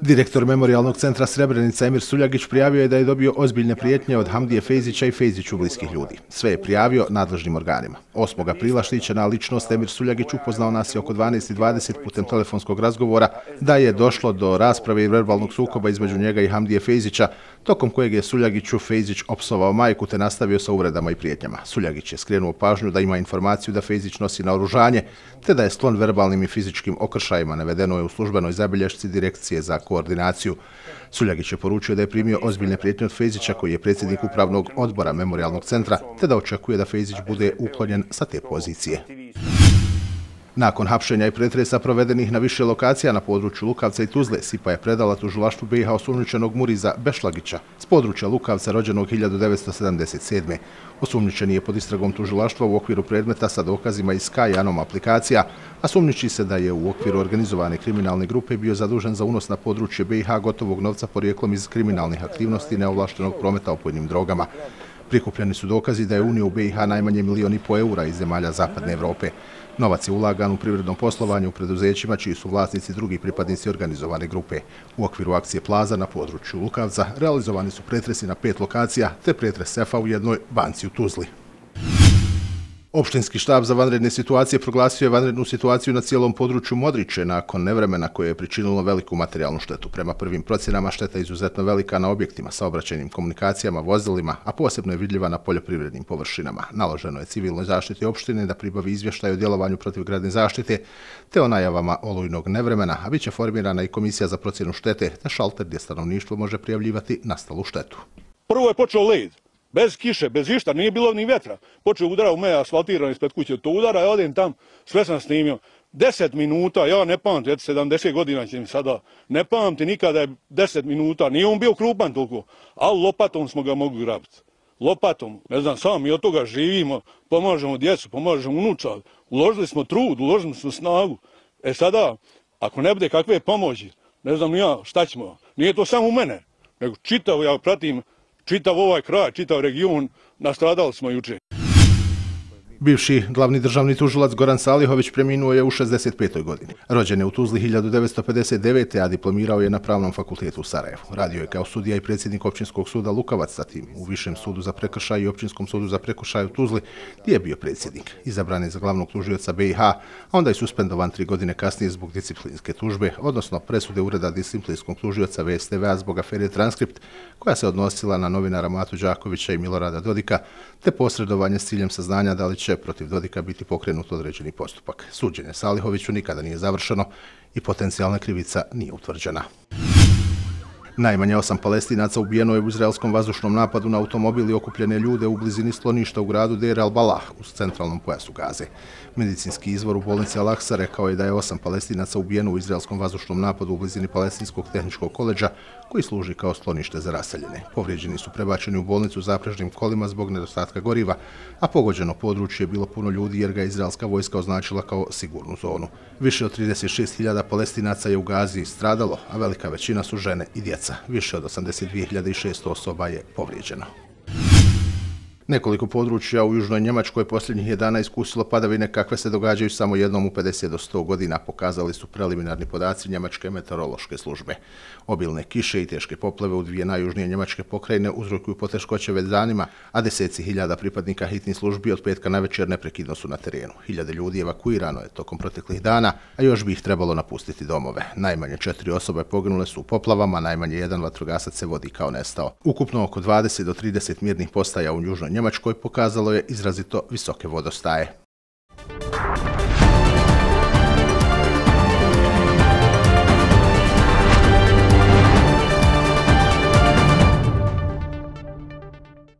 Direktor Memorijalnog centra Srebrenica Emir Suljagić prijavio je da je dobio ozbiljne prijetnje od Hamdije Fejzića i Fejziću bliskih ljudi. Sve je prijavio nadležnim organima. 8. aprila štićena ličnost Emir Suljagić upoznao nas je oko 12:20 putem telefonskog razgovora da je došlo do rasprave i verbalnog sukoba između njega i Hamdije Fejzića, tokom kojeg je Suljagiću Fejzić opsovao majku te nastavio sa uvredama i prijetnjama. Suljagić je skrenuo pažnju da ima informaciju da Fejzić nosi naoružanje te da je sklon verbalnim i fizičkim okršajima, navedeno je u službenoj zabilješci Direkcije za koordinaciju. Suljagić je poručio da je primio ozbiljne prijetnje od Fejzića, koji je predsjednik upravnog odbora Memorijalnog centra, te da očekuje da Fejzić bude uklonjen sa te pozicije. Nakon hapšenja i pretresa provedenih na više lokacija na području Lukavca i Tuzle, SIPA je predala tužilaštvu BiH osumnjičenog Muriza Bešlagića s područja Lukavca rođenog 1977. Osumnjičeni je pod istragom tužilaštva u okviru predmeta sa dokazima iz Sky Anom aplikacija, a sumnjiči se da je u okviru organizovane kriminalne grupe bio zadužen za unos na područje BiH gotovog novca porijeklom iz kriminalnih aktivnosti neovlaštenog prometa opojnim drogama. Prikupljeni su dokazi da je unio u BiH najmanje 1,5 miliona eura iz zemalja Zapadne Evrope. Novac je ulagan u privrednom poslovanju u preduzećima čiji su vlasnici drugi pripadnici organizovane grupe. U okviru akcije Plaza na području Lukavca realizovani su pretresi na 5 lokacija te pretres sefa u jednoj banci u Tuzli. Opštinski štab za vanredne situacije proglasio je vanrednu situaciju na cijelom području Modriče nakon nevremena koje je pričinilo veliku materijalnu štetu. Prema prvim procjenama šteta je izuzetno velika na objektima, saobraćajnim komunikacijama, vozilima, a posebno je vidljiva na poljoprivrednim površinama. Naloženo je civilnoj zaštiti opštine da pribavi izvještaj o djelovanju protivgradne zaštite te o najavama olujnog nevremena, a bit će formirana i komisija za procjenu štete te šalter gdje stanovništvo može prijavljivati nastalu štetu. Prvo je počeo led. Bez kiše, bez išta, nije bilo ni vetra. Počeo udara u me asfaltiran ispred kuće. To udara, ja odem tam, sve sam snimio. 10 minuta, ja ne pamtim, 70 godina će mi sada, ne pamtim nikada je 10 minuta. Nije on bio krupan toliko, ali lopatom smo ga mogli grabiti. Lopatom, ne znam, sam mi od toga živimo, pomažemo djecu, pomažemo unučad. Uložili smo trud, uložili smo snagu. Sada, ako ne bude kakve pomoći, ne znam ja šta ćemo. Nije to samo u mene, nego čitav, ja pratim, čitav ovaj kraj, čitav region, nastradali smo juče. Bivši glavni državni tužilac Goran Salihović preminuo je u 65. godini. Rođen je u Tuzli 1959. a diplomirao je na Pravnom fakultetu u Sarajevu. Radio je kao sudija i predsjednik Općinskog suda Lukavac, zatim u Višem sudu za prekršaj i Općinskom sudu za prekršaj u Tuzli, gdje je bio predsjednik. Izabran je za glavnog tužioca BiH, a onda je suspendovan 3 godine kasnije zbog disciplinske tužbe, odnosno presude Ureda disciplinskog tužioca VSTV-a zbog afere Transkript, koja se odnosila na novinara Matu Đakovića i Milorada Dodika, te posredovanje s ciljem saznanja da li će protiv Dodika biti pokrenut određeni postupak. Suđenje Salihoviću nikada nije završeno i potencijalna krivica nije utvrđena. Najmanje 8 Palestinaca ubijeno je u izraelskom vazdušnom napadu na automobil i okupljene ljude u blizini skloništa u gradu Deir al-Balah u centralnom pojasu Gaze. Medicinski izvor u bolnici Al-Aqsa rekao je da je 8 Palestinaca ubijeno u izraelskom vazdušnom napadu u blizini Palestinskog tehničkog koledža koji služi kao sklonište za raseljene. Povrijeđeni su prebačeni u bolnicu zaprežnim kolima zbog nedostatka goriva, a pogođeno područje je bilo puno ljudi jer ga je izraelska vojska označila kao sigurnu zonu. Više od 36.000 Palestinaca je u Gazi stradalo, a velika većina su žene i djeca. Više od 82.600 osoba je povrijeđeno. Nekoliko područja u južnoj Njemačkoj posljednjih je dana iskusilo padavine kakve se događaju samo jednom u 50 do 100 godina, pokazali su preliminarni podaci Njemačke meteorološke službe. Obilne kiše i teške poplave u 2 najjužnije njemačke pokrajine uzrokuju poteškoće već danima, a deseci hiljada pripadnika hitnih službi od petka navečer neprekidno su na terenu. Hiljade ljudi evakuirano je tokom proteklih dana, a još bi ih trebalo napustiti domove. Najmanje 4 osobe poginule su u poplavama, najmanje 1 vatrogasac se vodi kao nestao. Ukupno oko 20 do 30 mirnih postaja u južnoj Njemačkoj pokazalo je izrazito visoke vodostaje.